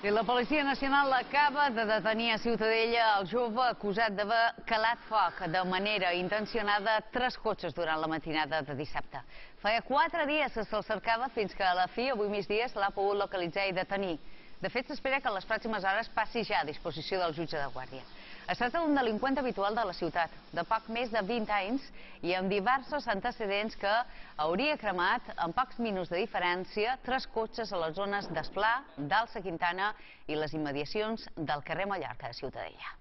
I la Policia Nacional acaba de detenir a Ciutadella el jove acusat d'haver calat foc de manera intencionada a 3 cotxes durant la matinada de dissabte. Feia 4 dies que se'l cercava fins que a la fi, avui migdia, se l'ha pogut localitzar i detenir. De fet, s'espera que en les pròximes hores passi ja a disposició del jutge de guàrdia. Es tracta d'un delinqüent habitual de la ciutat, de poc més de 20 anys i amb diversos antecedents que hauria cremat, en pocs minuts de diferència, 3 cotxes a les zones d'Esplà, d'Alça Quintana i les immediacions del carrer Mallorca de Ciutadella.